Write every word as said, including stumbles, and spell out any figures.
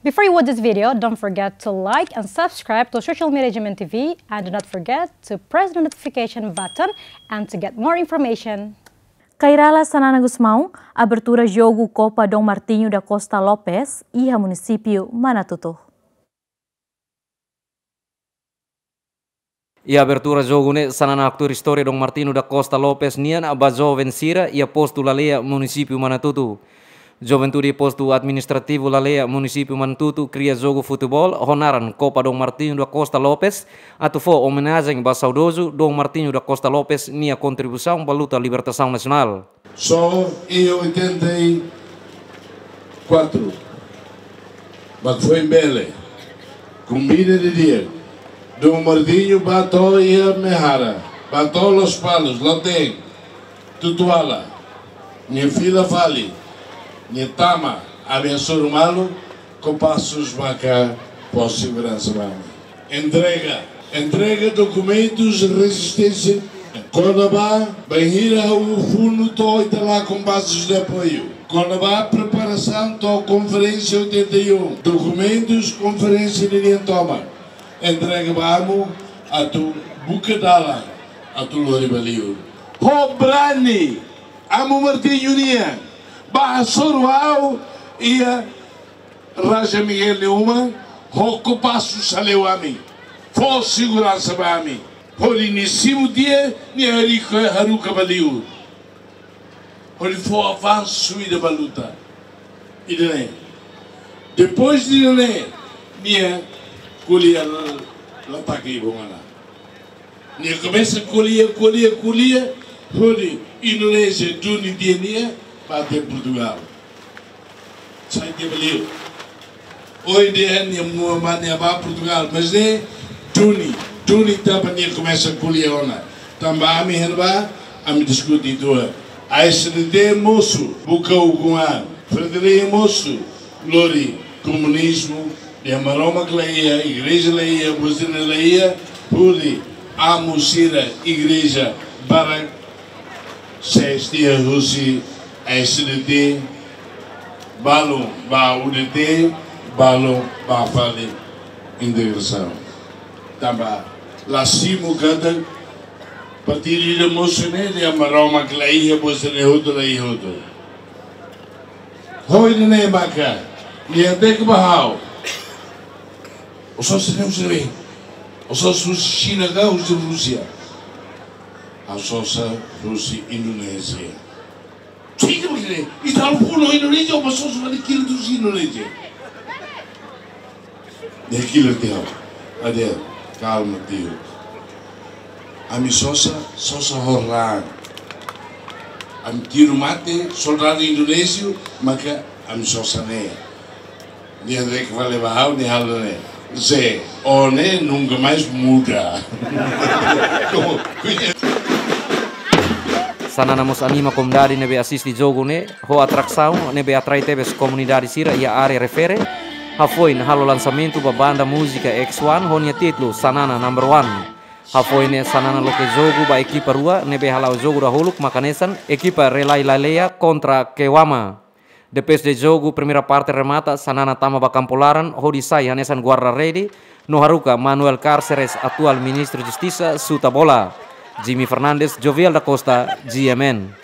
Before you watch this video, don't forget to like and subscribe to social media G M N T V, and do not forget to press the notification button and to get more information. Kairala Xanana Gusmão, abertura jogu Copa Dom Martinho da Costa Lopes, iha munisípiu Manatuto. Iha abertura jogu ne'e Xanana haktuir istória Dom Martinho da Costa Lopes nian ba joven sira iha postu Laleia, munisípiu Manatuto. Juventude postu administrativu Laleia, munisípiu Manatuto, kria jogu futeból ho naran Copa Dom Martinho da Costa Lopes, atu fó omenajen ba saudozu Dom Martinho da Costa Lopes nia kontribuisaun ba luta libertasaun nasionál. Só em oitenta e quatro, mas foi em Bele, com Mina de Diego, Dom Martinho bato e a Mehara, bato Lospalos, Loteng, Tutuala, nia fila fali, nia tama, ami hasoru malu, Compasso maka fó seguransa ba ami. Entrega, entrega dokumentus rezisténsia. Kona-ba, bainhira ha'u funu to'o ita la Compasso de apoiu. Kona-ba preparasaun to'o konferénsia oitenta e um. Dokumentus konferénsia ninian tomak. Entrega ba amu atu buka dalan atu lori ba liur. Ho brani, amu Martinho nian, ba hasoru ha'u iha Raja Miguel nia uma, ho Compasso salewa ami, fó seguransa ba ami, hodi nia simu tiha, nia haruka, haruka ba liur, hodi fó avansu ida ba luta. Ida-ne'e. Depois de ida-ne'e, nia ko'alia la, la taka ibun ona. Nia komesa ko'alia, ko'alia, ko'alia, hodi Indonézia duni tiha nia, ba tiha Portugal. Sai tiha ba liur. Ohin dehan nia mós nia ba Portugal, mas ne'e duni, duni tanba nia komesa ko'alia ona. Tanba ami hela ba, ami diskute uitoan. A S D T mosu, buka ukun-an. Fretilin mosu, lori komunizmu, iha Maromak la iha, igreja la iha, buzina la iha, hodi amu sira igreja barak, sees tiha husi S D T, balun ba U D T, balun ba fali integrasaun. Tanba la simu katak partidu ida mosu ne'e, iha Maromak la iha, buzina hotu la iha hotu. Ho ida-ne'e maka, nia dehan ba ha'u. Ó sosa ne'e husi ne'ebé? Ó sosa husi Xina ka husi Rúsia? Ha'u sosa husi Indonézia. Siga mak ne'e, ita halo funu Indonézia, ó sosa fali kila husi Indonézia. Nia kila tiha ha'u. Ade, kalma tiha. Ami sosa, sosa ho raan. Ami tiru mate soldadu indonéziu, maka ami sosa ne'e. Nia dehan fali ba ha'u, nia halo ne'e. Zé, ó ne'e nunka mais muda. Como conhece? Xanana mós anima komunidade ne'ebé asiste jogu ne'e, ho atrasaun ne'ebé atrai tebes komunidade sira iha área refere, hafoin halo lansamentu ba banda múzika X one ho nia títulu Xanana Number One. Hafoin ne'e Xanana loke jogu ba ekipa rua ne'ebé hala'o jogu dahuluk mak hanesan ekipa Relai Laleia kontra Kewama. Depois de jogu, primeira parte remata, Xanana tama ba kampu laran, hodi sai hanesan guarda-rede, no haruka Manuel Cárceres, atuál Ministru Justisa, xuta bola. Jimmy Fernandes, Jovial da Costa, G M N.